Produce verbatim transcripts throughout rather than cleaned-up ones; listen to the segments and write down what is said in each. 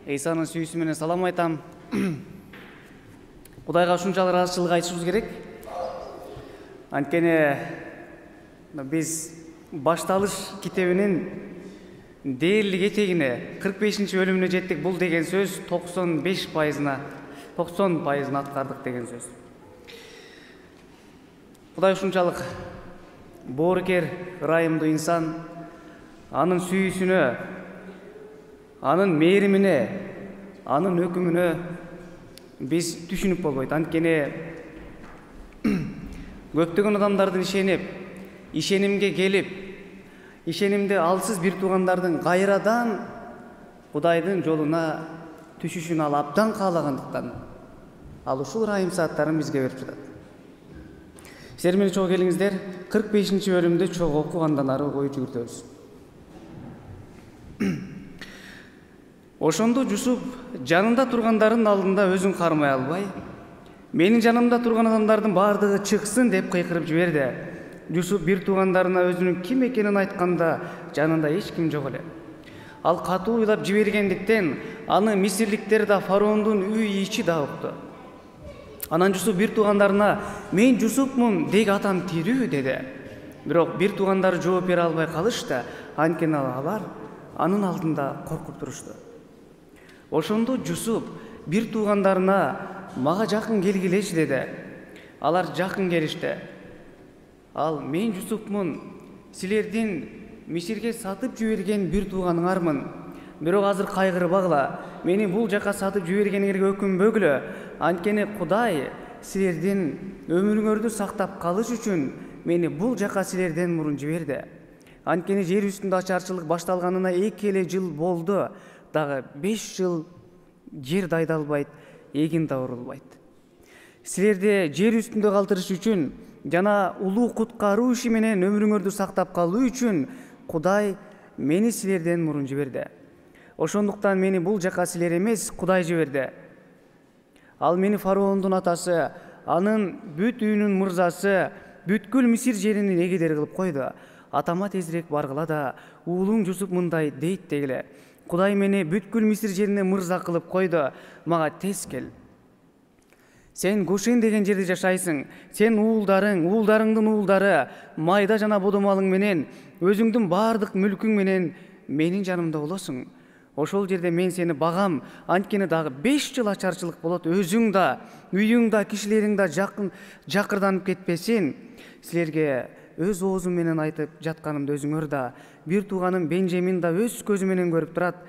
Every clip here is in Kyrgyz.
Эйсанын сүйүүсү менен салам айтам. Кудайга ушунчалык ыраазычылык айтышыбыз керек. Анткени биз башталыш китебинин дээрлик этегине кырк бешинчи бөлүмүнө жеттик. Бул деген сөз токсон беш пайызына токсон пайызын аткардык деген сөз. Кудай ушунчалык боорукер, ырайымдуу инсан, анын сүйүүсүнө, анын мээримине, анын өкүмүнө биз түшүнүп болбойт. Анткени көптөгөн адамдардын ишенип, ишенимге келип, ишенимде алсыз бир туугандардын кайрадан Кудайдын жолуна түшүшүн ал абдан каалагандыктан ал ушул ырайым сааттарын бизге берип жатат. Силер менен чогуу келиңиздер, кырк бешинчи бөлүмдү чогуу окуп андан ары ой жүгүртөбүз. Ошондо Жусуп жанында тургандардын алдында өзүн кармай албай, менин жанымда турган адамдардын баардыгы чыксын деп кыйкырып жиберди. Жусуп бир туугандарына өзүнүн ким экенин айтканда жанында эч ким жок эле. Ал катуу уйлап жибергендиктен аны мисирликтер да, фараондун үй ичи да укту. Анан Жусуп бир туугандарына "Мен Жусупмун, деги атам тирүү" деди. Бирок бир туугандары жооп бере албай калышты, анткени алар анын алдында коркуп турушту. Ошондо Жусуп бир туугандарына "Мага жакын келгилечи" деди. Алар жакын келишти. Ал "Мен Жусупмун, силердин Мисирге сатып жиберген бир тууганыңармын. Бирок азыр кайгырбагыла, мени бул жака сатып жибергениңерге өкүнбөгүлө. Анткени Кудай силердин өмүрүңөрдү сактап калыш үчүн мени бул жака силерден мурун жиберди. Анткени жер үстүндө ачарчылык башталганына эки эле жыл болду. Дагы беш жыл жер дайдалбайт, эгин да урулбайт. Силерди жер үстүндө калтырыш үчүн жана улуу куткаруу иши менен өмүрүңөрдү сактап калуу үчүн Кудай мени силерден мурун жиберди. Ошондуктан мени бул жака силер эмес, Кудай жиберди. Ал мени фараондун атасы, анын бүт үйүнүн мырзасы, бүткүл Мисир жеринин эгедери кылып койду. Атама тезирээк баргыла да, уулуң Жусуп мындай дейт дегиле: Кудай мени бүткүл Мисир жерине мырза кылып койду, мага тез кел. Сен Гошен деген жерде жашайсың. Сен уулдарың, уулдарыңдын уулдары, майда жана бодомалың менен, өзүңдүн баардык мүлкүң менен менин жанымда болосуң. Ошол жерде мен сени багам, анткени дагы беш жыл ачарчылык болот. Өзүң да, үйүң да, кишилериң да жакын жакырданып кетпесин. Силерге өз оозум менен айтып жатканымды өзүңөр да, бир тууганым Бенжамин да өз көзү менен көрүп турат.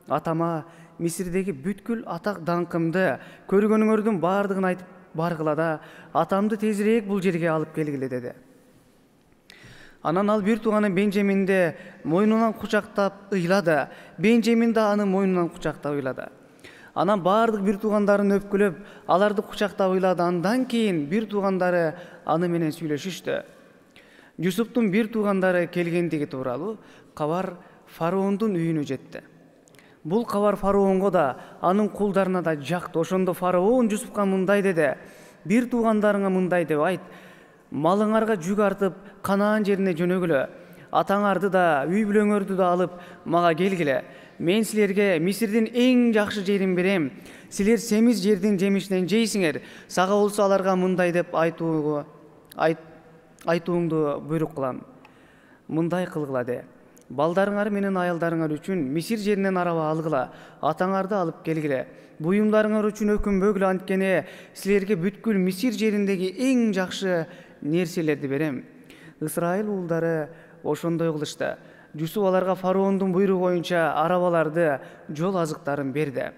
Атама Мисирдеги бүткүл атак даңкымды, көргөнүңөрдүн баардыгын айтып баргыла да, атамды тезирээк бул жерге алып келгиле деди. Анан ал бир тууганы Бенжаминди мойнунан кучактап ыйлады. Бенжамин да аны мойнунан кучактап ыйлады. Анан баардык бир туугандарын өпкүлөп, аларды кучактап ыйлады. Андан кийин бир туугандары аны менен сүйлөшүштү. Жусуптун бир туугандары келгендиги тууралуу кабар фараондун үйүнө жетти. Бул кабар фараонго да, анын кулдарына да жакты. Ошондо фараон Жусупка мындай деди: бир туугандарыңа мындай деп айт: малыңарга жүк артып Канаан жерине жөнөгүлө. Атаңарды да, үй бүлөңөрдү да алып мага келгиле. Мен силерге Мисирдин эң жакшы жерин берем. Силер семиз жердин жемишинен жейсиңер. Сага болсо аларга мындай деп айтууга айт айтууңду буйрук кылам. Мындай кылгыла де: балдарыңар менен аялдарыңар үчүн Мисир жеринен араба алгыла. Атаңарды алып келгиле. Буюмдарыңар үчүн өкүнбөгүлө, анткени силерге бүткүл Мисир жериндеги эң жакшы нерселерди берем. Ысрайыл уулдары ошондой кылышты. Жусуп аларга фараондун буйругу боюнча арабаларды, жол азыктарын берди.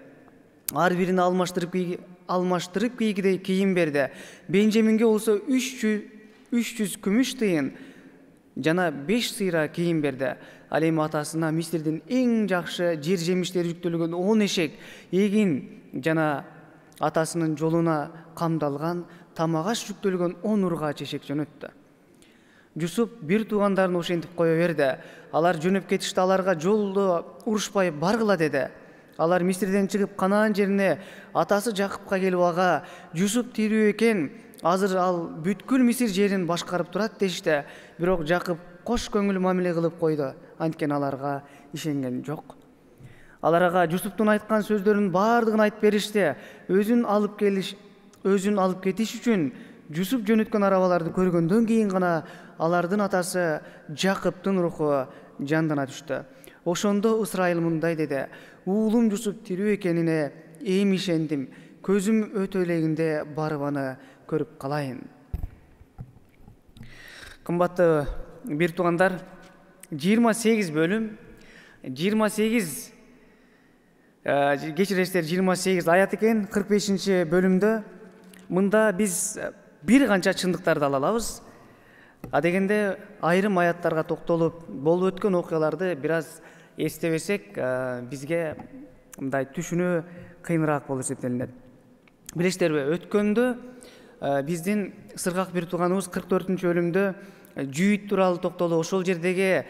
Ар бирине алмаштырып кийги алмаштырып кийгидей кийим берди. Бенжаминге болсо үч жүз күмүш тыйын жана беш сыйра кийим берди. Ал эми атасына Мисирдин эң жакшы жер жемиштери жүктөлгөн он эшек, эгин жана атасынын жолуна камдалган тамагаш жүктөлгөн он ургач эшек жөнөттү. Жусуп бир туугандарын ошентип кое берди. Алар жөнөп кетишти. Аларга жолдо урушпай баргыла деди. Алар Мисирден чыгып Канаан жерине атасы Жакыпка келип ага: Жусуп тирүү экен, азыр ал бүткүл Мисир жерин башкарып турат дешти. Бирок Жакып кош көңүл мамиле кылып койду, анткени аларга ишенген жок. Алар ага Жусуптун айткан сөздөрүнүн баардыгын айтып беришти. Өзүн алып келиш, өзүн алып кетиш үчүн Жусуп жөнөткөн арабаларды көргөндөн кийин гана алардын атасы Жакыптын руху жандана түштү. Ошондо Ысрайыл мындай деди: уулум Жусуп тирүү экенине эми ишендим. Көзүм өтө элегинде барып аны көрүп калайын. Кымбаттуу бир туугандар, жыйырма сегиз бөлүм, жыйырма сегиз кечиресиздер, жыйырма сегиз аят экен. кырк бешинчи бөлүмдө мында биз бир канча чындыктарды ала алабыз. А дегенде айрым аяттарга токтолуп, болуп өткөн окуяларды бир аз эстебесек, бизге мындай түшүнүү кыйыныраак болуп эсептелинет. Билесиздерби, өткөндө биздин сыргак бир тууганыбыз кырк төртүнчү бөлүмдө жүйүт тууралуу токтолуп, ошол жердеги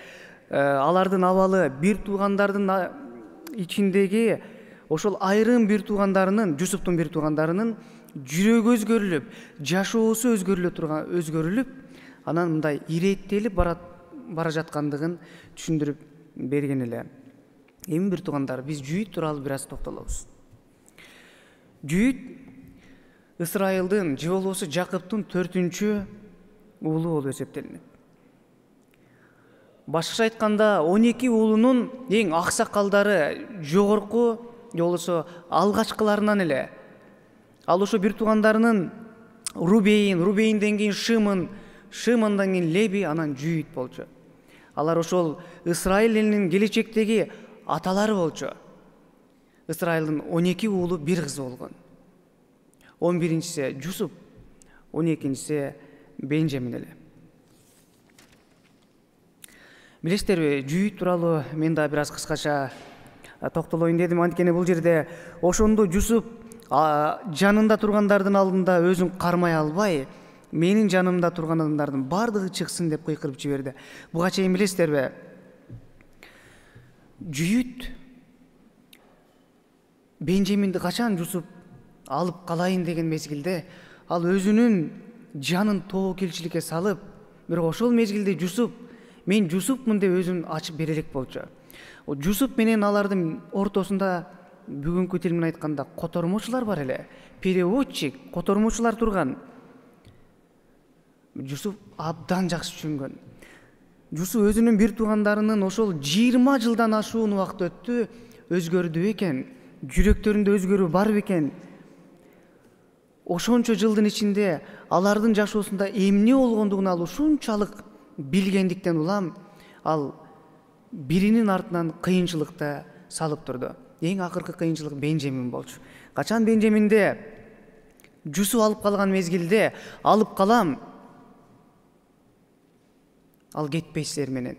алардын абалы, бир туугандардын ичиндеги ошол айрым бир туугандарынын, Жусуптун бир туугандарынын жүрөгү өзгөрүлүп, жашоосу өзгөрүлө турган, өзгөрүлүп, анан мындай иреттелип бара жаткандыгын түшүндүрүп берген эле. Эми бир туугандар, биз жүйүт тууралуу бир аз токтолобуз. Жүйүт Ысрайылдын же болбосо Жакыптын төртүнчү уулу болуп эсептелинет. Башкача айтканда, он эки уулунун эң аксакалдары, жогорку, же болбосо алгачкыларынан эле. Ал ошо бир туугандарынын Рубейн, Рубейнден кийин Шымын, Шымындан кийин Леби, анан Жүйүт болчу. Алар ошол Ысрайыл элинин келечектеги аталары болчу. Ысрайылдын он эки уулу, бир кызы болгон. он биринчиси Жусуп, он экинчиси Бенжамин эле. Билесиздерби, Жүйүт тууралуу мен да бир аз кыскача токтолоюн дедим. Анткени бул жерде ошондо Жусуп жанында тургандардын алдында өзүн кармай албай, менин жанымда турган адамдардын бардыгы чыксын деп кыйкырып жиберди. Буга чейин билесиздерби, Жүйүт Бенжаминди качан Жусуп алып калайын деген мезгилде ал өзүнүн жанын тобокелчиликке салып, бирок ошол мезгилде Жусуп мен Жусупмун деп өзүн ачып бере элек болчу. Жусуп менен алардын ортосунда бүгүнкү тил менен айтканда котормочулар бар эле. Переводчик, котормочулар турган. Жусуп абдан жакшы түшүнгөн. Жусуп өзүнүн бир туугандарынын ошол жыйырма жылдан ашуун убакыт өттү, өзгөрдү экен, жүрөктөрүндө өзгөрүү бар бекен. Ошончо жылдын ичинде алардын жашоосунда эмне болгондугун ал ушунчалык билгендиктен улам ал биринин артынан кыйынчылыкта салып турду. Эң акыркы кыйынчылык Бенжамин болчу. Качан Бенжаминде Жусуп алып калган мезгилде, алып калам, ал кетпейсиздер менен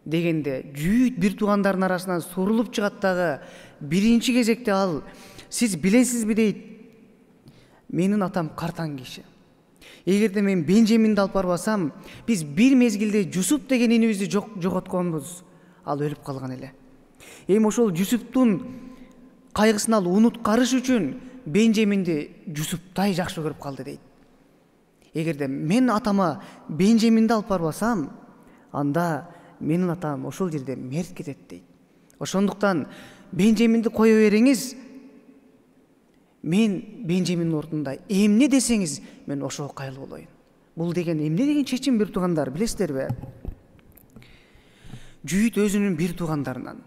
дегенде, Жүйүт бир туугандарынын арасынан сурулуп чыгат дагы, биринчи кезекте ал: сиз билесизби дейт, менин атам картаң киши. Эгерде мен Бенжаминди алып барбасам, биз бир мезгилде Жусуп деген инибизди жоготконбуз. Ал өлүп калган эле. Эми ошол Жусуптун кайгысын ал унуткарыш үчүн Бенжаминди Жусуптай жакшы көрүп калды дейт. Эгерде мен атама Бенжаминди алып барбасам, анда менин атам ошол жерде мерт кетет дейт. Ошондуктан Бенжаминди кое бериңиз, мен Бенжаминдин ордунда эмне десеңиз, мен ошого кайыл болоюн. Бул деген эмне деген чечим, бир туугандар, билесиздерби? Жүйүт өзүнүн бир туугандарынан,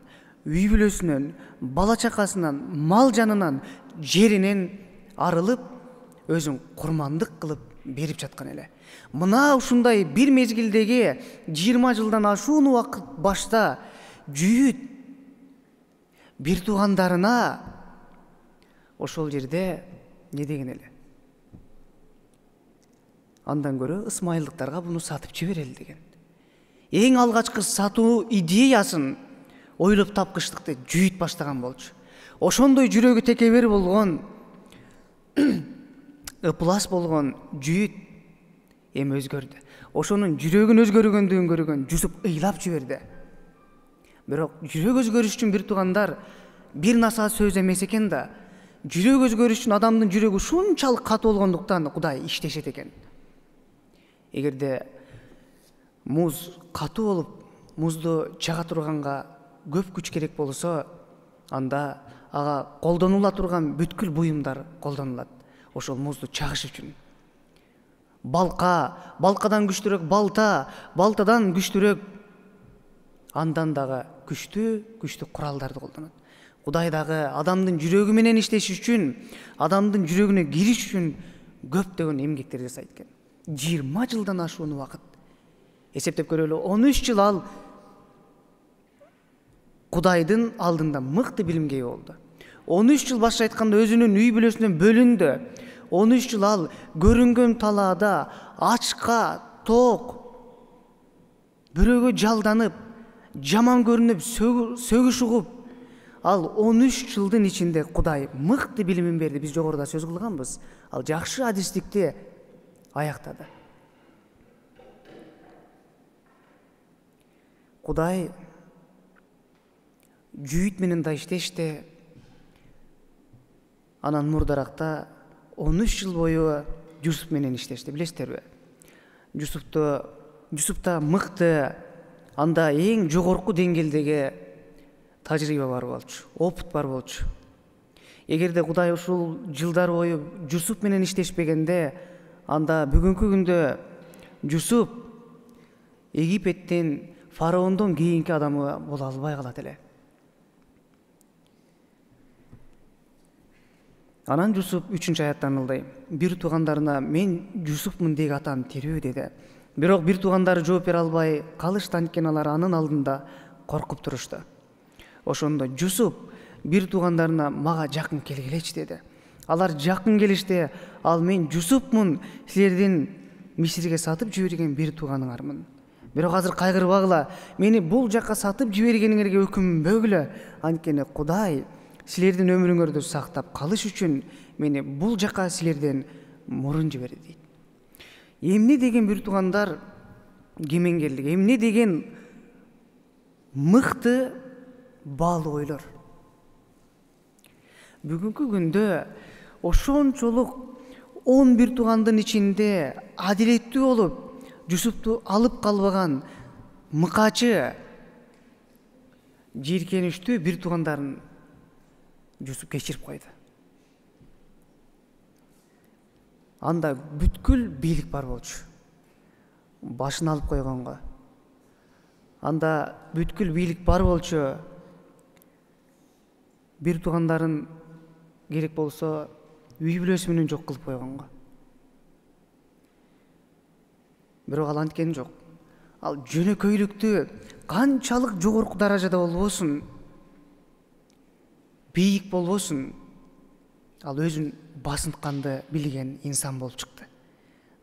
үй бүлөсүнөн, бала чакасынан, мал жанынан, жеринен арылып, өзүн курмандык кылып берип жаткан эле. Мына ушундай бир мезгилдеги жыйырма жылдан ашуун убакыт башта Жүйүт бир туугандарына ошол жерде не деген эле? Андан көрө ысмайылдыктарга буну сатып жиберели деген. Эң алгачкы сатуу идеясын ойлоп тапкычтыкты Жүйүт баштаган болчу. Ошондой жүрөгү текебер болгон, ыплас болгон Жүйүт эми өзгөрдү. Ошонун жүрөгүн өзгөргөндүгүн көргөн Жусуп ыйлап жиберди. Бирок жүрөк өзгөрүш үчүн, бир туугандар, бир насаат сөз эмес экен да. Жүрөк өзгөрүш үчүн адамдын жүрөгү ушунчалык катуу болгондуктан Кудай иштешет экен. Эгерде муз катуу болуп, музду чага турганга көп күч керек болсо, анда ага колдонула турган бүткүл буюмдар колдонулат. Ошол музду чагыш үчүн. Балка, балкадан күчтүүрөөк балта, балтадан күчтүүрөөк андан дагы күчтүү, күчтүү куралдарды колдонот. Кудай дагы адамдын жүрөгү менен иштеш үчүн, адамдын жүрөгүнө кириш үчүн көптөгөн эмгектер жасайт экен. жыйырма жылдан ашуун убакыт. Эсептеп көрөлү, он үч жыл ал Кудайдын алдында мыкты билимге ээ болду. он үч жыл башка айтканда өзүнүн үй бүлөсүнөн бөлүндү. он үч жыл ал көрүнгөн талаада ачка, ток, бирөөгө жалданып, жаман көрүнүп, сөгүш угуп, ал он үч жылдын ичинде Кудай мыкты билимин берди. Биз жогоруда сөз кылганбыз. Ал жакшы адистикти аяктады. Кудай жүйүт менен да иштешти. Анан мурдаракта он үч жыл бою Жусуп менен иштешти, билесиздерби? Жусупту Жусупта мыкты, анда эң жогорку деңгээлдеги тажрыйба бар болчу, опыт бар болчу. Эгерде Кудай ушул жылдар бою Жусуп менен иштешпегенде, анда бүгүнкү күндө Жусуп Египеттин фараондон кийинки адамы боло албай калат эле. Анан Жусуп үчүнчү аяттан мындай: бир туугандарына мен Жусупмун деги атам тирүү деди. Бирок бир туугандары жооп бере албай калышты, анткени алар анын алдында коркуп турушту. Ошондо Жусуп бир туугандарына мага жакын келгилечи деди. Алар жакын келишти. Ал мен Жусупмун, силердин Мисирге сатып жиберген бир тууганыңармын. Бирок азыр кайгырбагыла, мени бул жакка сатып жибергениңерге өкүнбөгүлө, анткени Кудай силердин өмүрүңөрдү сактап калыш үчүн мени бул жакка силерден мурун жиберди дейт. Эмне деген бир туугандар кемеңгерлик, эмне деген мыкты баалуу ойлор. Бүгүнкү күндө ошончолук он бир туугандын ичинде адилеттүү болуп, Жусупту алып калбаган мыкачы, жийиркеничтүү бир туугандарын Жусуп кечирип койду. Анда бүткүл бийлик бар болчу, башын алып койгонго. Анда бүткүл бийлик бар болчу, бир туугандарын керек болсо үй бүлөсү менен жок кылып койгонго. Бирок ал анткени жок. Ал жөнөкөйлүктү канчалык жогорку даражада болбосун, бийик болбосун, ал өзүн басынтканды билген инсан болуп чыкты.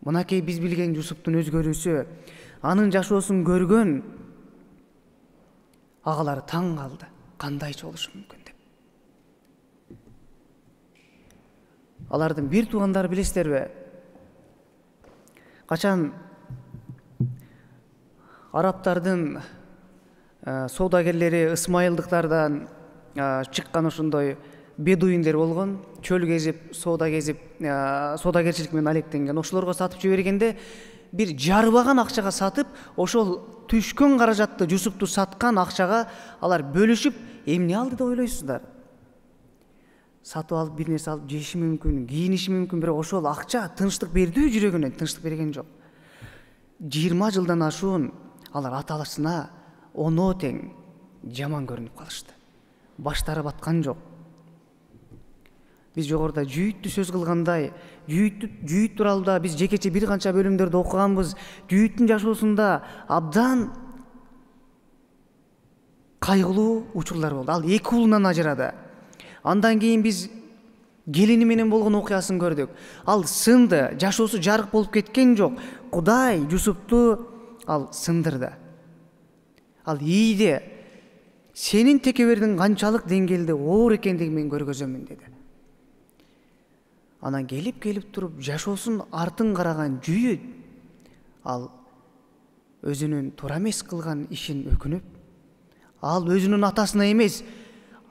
Мынакей биз билген Жусуптун өзгөрүүсү, анын жашоосун көргөн агалар таң калды. Кандайча болушу мүмкүн деп. Алардын бир туугандары, билесиздерби, качан арабтардын соодагерлери ысмайылдыктардан чыккан ошондой бедуиндер болгон, чөл кезип, соода кезип, соодагерчилик менен алектенген, ошолорго сатып жибергенде бир жарыбаган акчага сатып, ошол түшкөн каражатты Жусупту саткан акчага алар бөлүшүп, эмне алды деп ойлойсуздар? Сатып алып бир нерсе алып жеши мүмкүн, кийиниши мүмкүн, бирок ошол акча тынчтык бердүү, жүрөгүнө тынчтык берген жок. жыйырма жылдан ашуун алар аталашына оноо тең жаман көрүнүп калышты. Баштары баткан жок. Биз жогоруда жүйүттү сөз кылгандай, жүйүт жүйүт тууралуу биз жекече бир канча бөлүмдөрдө окуганбыз. Жүйүттүн жашоосунда абдан кайгылуу учурлар болду. Ал эки уулунан ажырады. Андан кийин биз келини менен болгон окуясын көрдүк. Ал сынды, жашоосу жарык болуп кеткен жок. Кудай Жусупту ал сындырды. Ал ийди. Сенин текебердиң канчалык деңгээлде оор экендигин мен көргөзөмүн деди. Анан келип-келип туруп жашоосун артын караган жүйүт ал өзүнүн туура эмес кылган ишин өкүнүп, ал өзүнүн атасына эмес,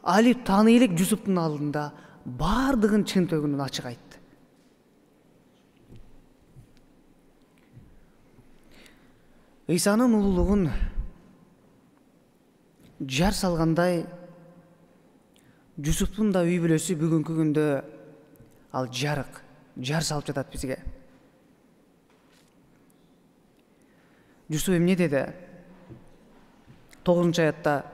али тааный элек Жусуптун алдында баардыгын чын төгүнүн ачык айтты. Ыйсанын улуулугун жар салгандай Жусуптун да үй бүлөсү бүгүнкү күндө ал жарык, жар салып жатат бизге. Жусуп эмне деди? тогузунчу аятта: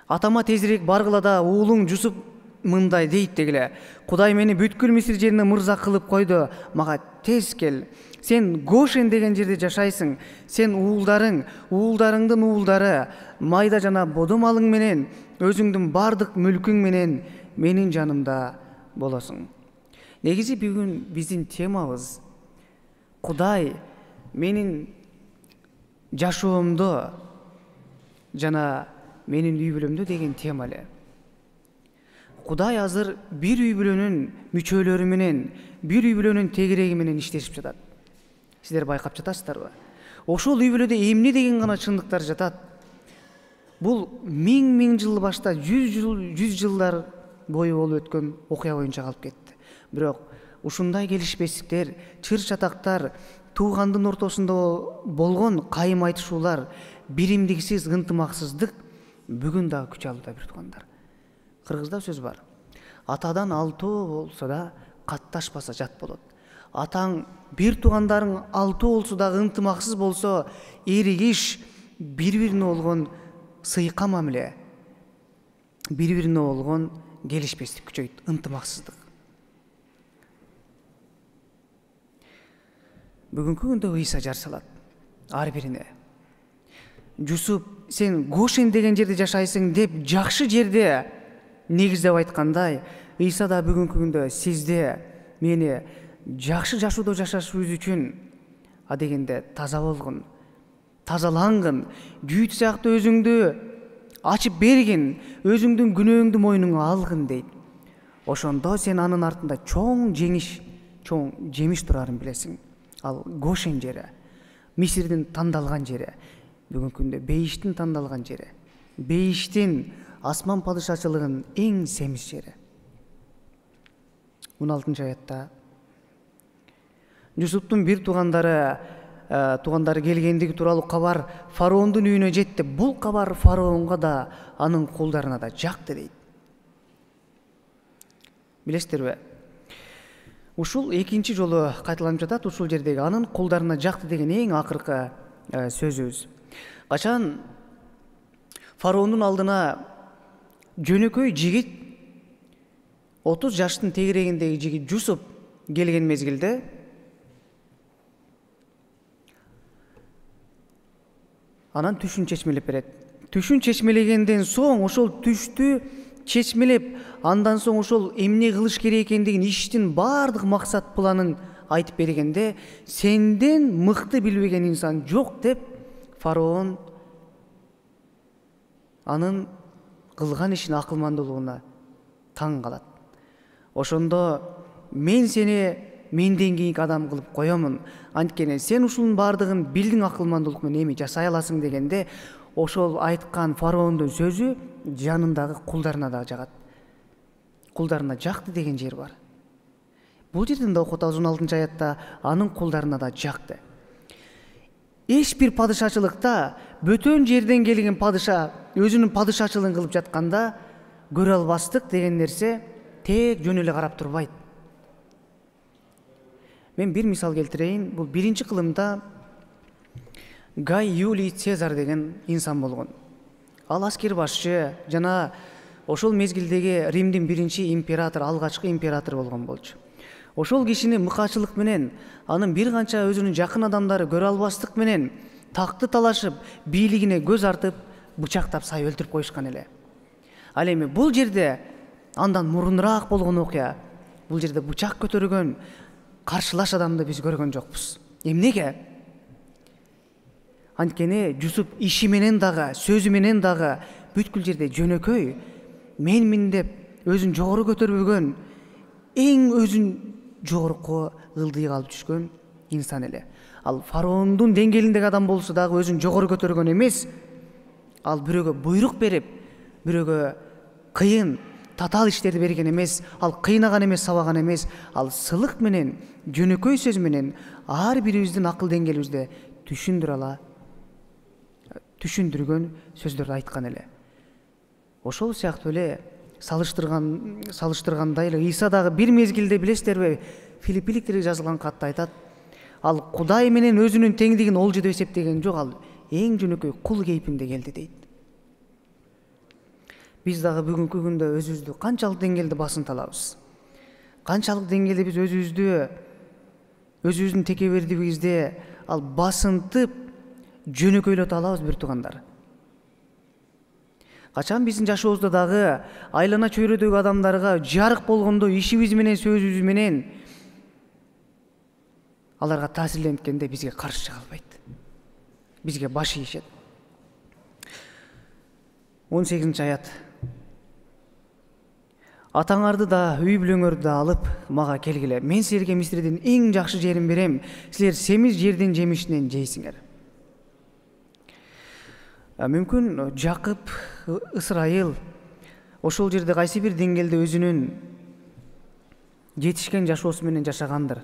атама тезирээк баргыла да, уулуң Жусуп мындай дейт дегиле: Кудай мени бүткүл Мисир жерине мырза кылып койду, мага тез кел. Сен Гошен деген жерде жашайсың. Сен уулдарың, уулдарыңдын уулдары, майда жана бодо малың менен, өзүңдүн бардык мүлкүң менен менин жанымда болосуң. Негизи бүгүн биздин темабыз Кудай менин жашоомдо жана менин үй бүлөмдө деген тема эле. Кудай азыр бир үй бүлөнүн мүчөлөрү менен, бир үй бүлөнүн тегереги менен иштешип жатат. Сиздер байкап жатасыздарбы? Ошол үй бүлөдө эмне деген гана чындыктар жатат? Бул миң миң жыл башта, жүз жыл, жүз жылдар бою болуп өткөн окуя боюнча калып кетти. Бирок ушундай келишпестиктер, чыр чатактар, туугандын ортосунда болгон кайым айтышуулар, биримдиксиз ынтымаксыздык бүгүн дагы күч алууда бир туугандар. Кыргызда сөз бар: атадан алтоо болсо да катташпаса жат болот. Атаң, бир туугандарың алтоо болсо дагы ынтымаксыз болсо, эригиш, бири-бирине болгон сыйка мамиле, бири-бирине болгон келишпестик күчөйт, ынтымаксыздык. Бүгүнкү күндө Ыйса жар салат ар бирине. Жусуп, сен Гошен деген жерде жашайсың деп жакшы жерде негиздеп айткандай, Ыйса да бүгүнкү күндө сизде, мени жакшы жашоодо жашашыбыз үчүн адегенде таза болгун, тазалангын, жүйүт сыяктуу өзүңдү ачып бергин, өзүңдүн күнөөңдү мойнуңа алгын дейт. Ошондо сен анын артында чоң жеңиш, чоң жемиш турарын билесиң. Ал Гошен жери, Мисирдин тандалган жери, бүгүнкү күндө бейиштин тандалган жери, бейиштин, асман падышачылыгынын эң семиз жери. он алтынчы аятта Жусуптун бир туугандары туугандары келгендиги тууралуу кабар фараондун үйүнө жетти. Бул кабар фараонго да, анын кулдарына да жакты дейт. Билесиздерби? Ушул экинчи жолу кайталанып жатат ушул жердеги анын кулдарына жакты деген эң акыркы сөзүбүз. Качан фараондун алдына жөнөкөй жигит, отуз жаштын тегерегиндеги жигит Жусуп келген мезгилде анан түшүн чечмелеп берет. Түшүн чечмелегенден соң ошол түштү чечмелеп, андан соң ошол эмне кылыш керек экендигин, иштин баардык максат планын айтып бергенде, сенден мыкты билбеген инсан жок деп фараон анын кылган ишин акылмандуулугуна таң калат. Ошондо мен сени менден кийинки адам кылып коёмун, анткени сен ушунун баардыгын билдиң акылмандуулук менен эми жасай аласың дегенде, ошол айткан фараондун сөзү жанындагы кулдарына да жагат. Кулдарына жакты деген жер бар. Бул жерден да окуп атабыз он алтынчы аятта анын кулдарына да жакты. Эч бир падышачылыкта бөтөн жерден келген падыша өзүнүн падышачылыгын кылып жатканда көрө албастык деген нерсе тек жөн эле карап турбайт. Мен бир мисал келтирейин. Бул биринчи кылымда Гай Юлий Цезарь деген инсан болгон. Ал аскер башчы жана ошол мезгилдеги Римдин биринчи император, алгачкы император болгон болчу. Ошол кишини мыкаачылык менен, анын бир канча өзүнүн жакын адамдары көрө албастык менен такты талашып, бийлигине көз артып, бычактап сай өлтүрүп коюшкан эле. Ал эми бул жерде андан мурунураак болгон окуя. Бул жерде бычак көтөргөн каршылаш адамды биз көргөн жокпуз. Эмнеге? Анткени Жусуп иши менен дагы, сөзү менен дагы бүткүл жерде жөнөкөй, менмин деп өзүн жогору көтөрбөгөн, эң өзүн жогорку ылдыйга алып түшкөн инсан эле. Ал фараондун деңгээлиндеги адам болсо дагы өзүн жогору көтөргөн эмес. Ал бирөөгө буйрук берип, бирөөгө кыйын, татаал иштерди берген эмес. Ал кыйнаган эмес, сабаган эмес. Ал сылык менен, жөнөкөй сөз менен ар бирибиздин акыл деңгээлибизде түшүндүрө ала, түшүндүргөн сөздөрдү айткан эле. Ошол сыяктуу эле салыштырган салыштыргандай эле Иса дагы бир мезгилде билесиздерби Филиппиликтерге жазылган катта айтат, ал Кудай менен өзүнүн теңдигин олжо деп эсептеген жок, ал эң жөнөкөй кул кейпинде келди дейт. Биз дагы бүгүнкү күндө өзүбүздү канчалык деңгээлде басынта алабыз? Канчалык деңгээлде биз өзүбүздү өзүбүздүн текебердигибизде ал басынтып жөнөкөйлөтө алабыз бир туугандар? Качан биздин жашообузда дагы айлана чөйрөдөгү адамдарга жарык болгондо ишибиз менен сөзүбүз менен аларга таасирленткенде бизге каршы чыга албайт, бизге баш ийишет. он сегизинчи аят. Атаңарды да үй бүлөңөрдү да алып мага келгиле. Мен силерге Мисирдин эң жакшы жерин берем. Силер семиз жердин жемишинен жейсиңер. Мүмкүн Жакып, Ысрайыл ошол жерде кайсы бир деңгээлде өзүнүн жетишкен жашоосу менен жашагандыр.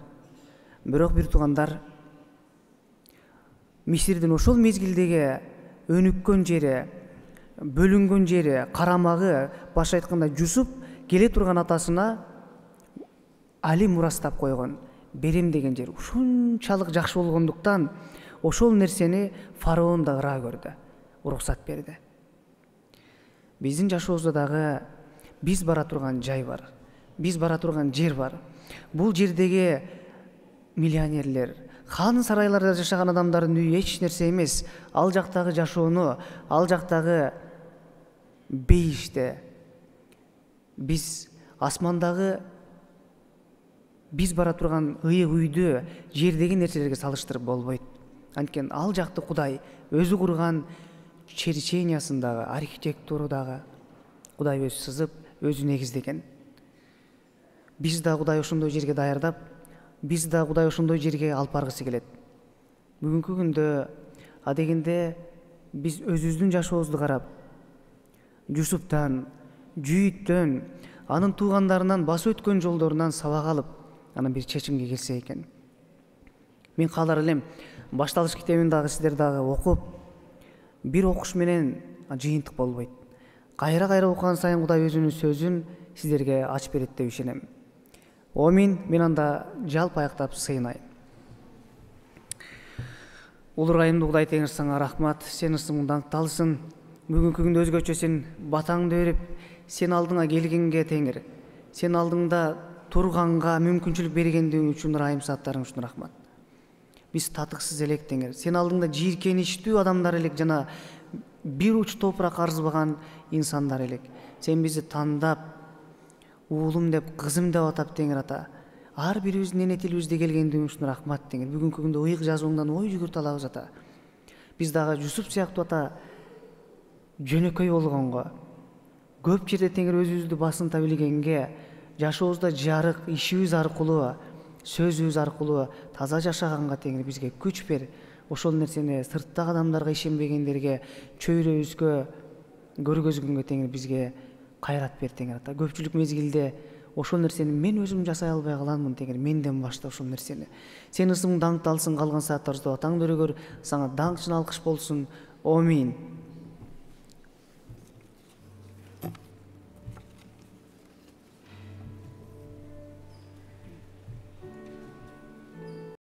Бирок бир туугандар, Мисирдин ошол мезгилдеги өнүккөн жери, бөлүнгөн жери, карамагы, башка айтканда Жусуп келе турган атасына али мурастап койгон, берем деген жер ушунчалык жакшы болгондуктан ошол нерсени фараон да ыраа көрдү, уруксат берди. Биздин жашообузда дагы биз бара турган жай бар, биз бара турган жер бар. Бул жердеги миллионерлер, хан сарайларда жашаган адамдардын үйү эч нерсе эмес. Ал жактагы жашоону, ал жактагы бейиште биз асмандагы биз бара турган ыйык үйдү жердеги нерселерге салыштырып болбойт. Анткени ал жакты Кудай өзү курган черчениясындагы, архитектурудагы Кудай өзү сызып, өзү негиздеген. Биз да Кудай ошондой жерге даярдап, биз да Кудай ошондой жерге алып баргысы келет. Бүгүнкү күндө адегенде биз өзүбүздүн жашообузду карап, Жусуптан, Жүйүттөн, анын туугандарынан басып өткөн жолдорунан сабак алып, анан бир чечимге келсе экен. Мен каалар элем, башталыш китебин дагы сиздер дагы окуп, бир окуш менен жыйынтык болбойт. Кайра-кайра окуган сайын Кудай өзүнүн сөзүн сиздерге ачып берет деп ишенем. Омин. Мен анда жалпы аяктап сыйынайын. Улурайымдуу Кудай Теңир сага рахмат. Сен ысымың даңкталсын. Бүгүнкү күндө өзгөчө сен батаңды берип, сен алдыңа келгенге Теңир, сен алдыңда турганга мүмкүнчүлүк бергендигиң үчүн, ырайым сааттарың үчүн рахмат. Биз татыксыз элек Теңир. Сен алдыңда жийиркеничтүү адамдар элек, жана бир уч топурак арзыбаган инсандар элек. Сен бизди тандап, уулум деп, кызым деп атап Теңир ата. Ар бирибиздин эне тилибизде келгендигиң үчүн рахмат Теңир. Бүгүнкү күндө ыйык жазууңдан ой жүгүртө алабыз ата. Биз дагы Жусуп сыяктуу ата жөнөкөй болгонго, көп жерде Теңир өзүбүздү басынта билгенге, жашообузда жарык, ишибиз аркылуу, сөзүбүз аркылуу таза жашаганга Теңир бизге күч бер. Ошол нерсени сырттагы адамдарга ишенбегендерге, чөйрөбүзгө көргөзгөнгө Теңир бизге кайрат бер Теңир ата. Көпчүлүк мезгилде ошол нерсени мен өзүм жасай албай каламын Теңир, менден башта ошол нерсени. Сен ысымың даңкталсын, калган сааттарыбызда атаң дөөгөр сага даңк үчүн алкыш болсун. Амин.